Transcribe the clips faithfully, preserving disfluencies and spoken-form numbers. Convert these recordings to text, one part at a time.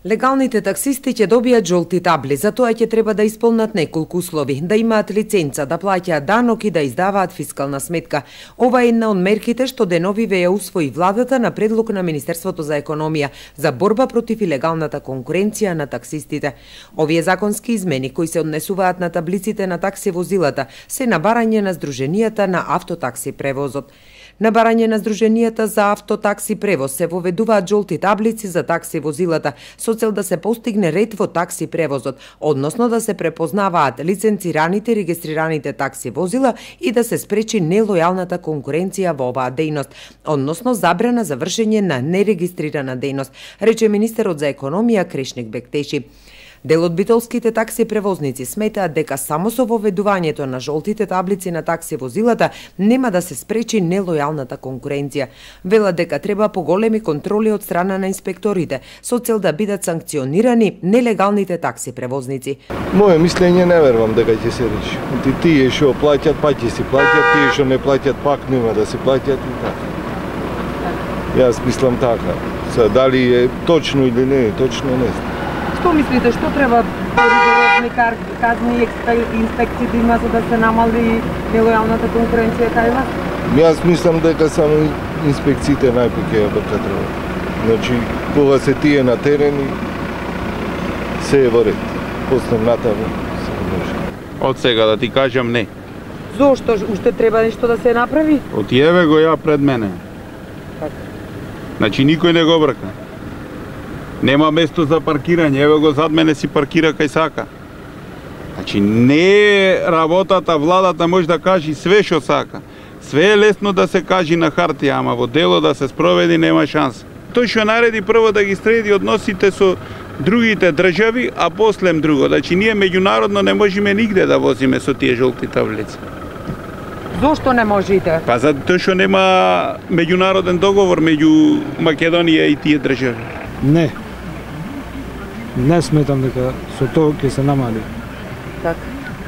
Легалните таксисти ќе добијат жолти табли, за тоа ќе треба да исполнат неколку услови: да имаат лиценца, да плаќаат данок и да издаваат фискална сметка. Ова е една од мерките што деновиве ја усвои владата на предлог на Министерството за економија за борба против илегалната конкуренција на таксистите. Овие законски измени кои се однесуваат на таблиците на такси возилата се на барање на Сдруженијата на автотакси превозот. На барање на Сдруженијата за автотакси превоз се воведуваат жолти таблици за такси возилата со цел да се постигне ред во такси превозот, односно да се препознаваат лиценцираните регистрираните такси возила и да се спречи нелојалната конкуренција во оваа дејност, односно забрана за вршење на нерегистрирана дејност, рече министерот за економија Крешник Бектеши. Дел од битолските такси превозници сметаат дека само со воведувањето на жолтите таблици на такси возилата нема да се спречи нелојалната конкуренција. Велат дека треба поголеми контроли од страна на инспекторите со цел да бидат санкционирани нелегалните такси превозници. Моје мислење не верувам дека ќе се реши. Ти тие што плаќаат, па ќе си плаќаат, тие што не плаќаат, пак нема да се плаќаат и така. Јас мислам така. Са, дали е точно или не е точно, не знам. Што мислите, што треба поригорозни казни инспекции да има за да се намали нелојалната конкуренција кај вас? Јас мислам дека само инспекциите најпак ја бркат работа. Значи, кога се тие на терен, се е во ред. После натаму се може. Од сега да ти кажам не. Зошто? Уште треба нешто да се направи? Од еве го ја пред мене. Така. Значи никој не го брка. Нема место за паркирање, еве го зад мене си паркира кај сака. Значи не е работата, владата може да кажи све што сака. Све е лесно да се кажи на хартија, ама во дело да се спроведи нема шанса. Тој што нареди прво да ги среди односите со другите држави, а после друго. Значи ние меѓународно не можеме нигде да возиме со тие жолти таблици. Зошто не можете? Па затоа што нема меѓународен договор меѓу Македонија и тие држави. Не. Не сметам дека со тоа ќе се намали. Така.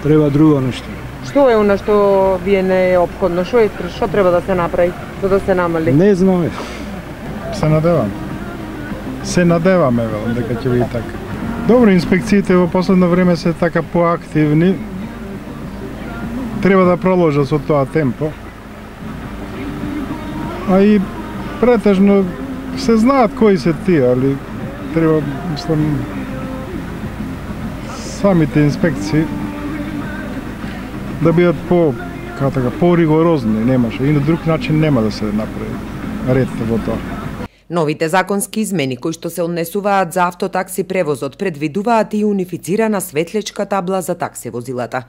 Треба друго нешто. Што е она што вие не е опходно? Што е што треба да се направи за да се намали? Не знаме. Се надевам. Се надеваме велам дека ќе биде така. Добро, инспекциите во последно време се така поактивни. Треба да продолжат со тоа темпо. А и претежно се знаат кои се тие, али треба, мислам, самите инспекции да бидат по, како така, по-ригорозни, немаше. И на друг начин нема да се направи ред во тоа. Новите законски измени кои што се однесуваат за автотакси превозот предвидуваат и унифицирана светлечка табла за такси возилата.